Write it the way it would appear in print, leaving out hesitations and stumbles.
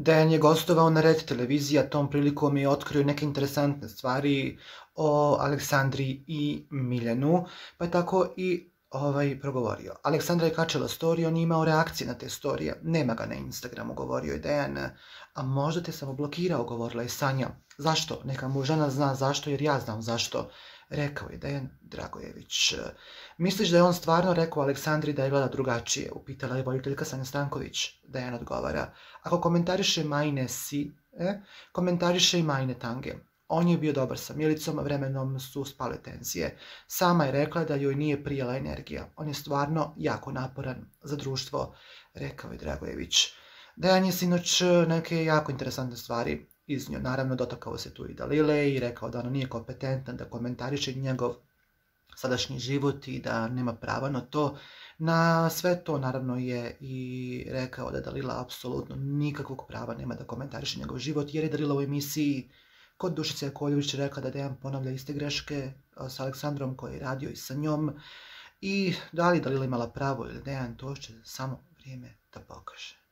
Dejan je gostovao na Red televiziji, a tom prilikom je otkrio neke interesantne stvari o Aleksandri i Miljanu, pa je tako i progovorio. Aleksandra je kačala storiju, on je imao reakcije na te storije, nema ga na Instagramu, govorio je Dejan, a možda te samo blokirao, govorila je Sanja. Zašto? Neka mu žena zna zašto, jer ja znam zašto, rekao je Dejan Dragojević. Misliš da je on stvarno rekao Aleksandri da je gleda drugačije, upitala je voditeljka Sanja Stanković. Dejan odgovara, ako komentariše Majine komentariše i Majine Tange. On je bio dobar sa Milicom, vremenom su spale tenzije. Sama je rekla da joj nije prijela energija. On je stvarno jako naporan za društvo, rekao je Dragojević. Dejan je sinoć neke jako interesantne stvari iznio. Naravno, dotakao se tu i Dalile i rekao da ona nije kompetentan da komentariše njegov sadašnji život i da nema prava na to. Na sve to naravno je i rekao da Dalila apsolutno nikakvog prava nema da komentariše njegov život, jer je Dalila u emisiji kod Dušice Jakovljević rekla da Dejan ponavlja iste greške s Aleksandrom koji je radio i sa njom. I da li Dalila imala pravo ili Dejan, to će samo vrijeme da pokaže.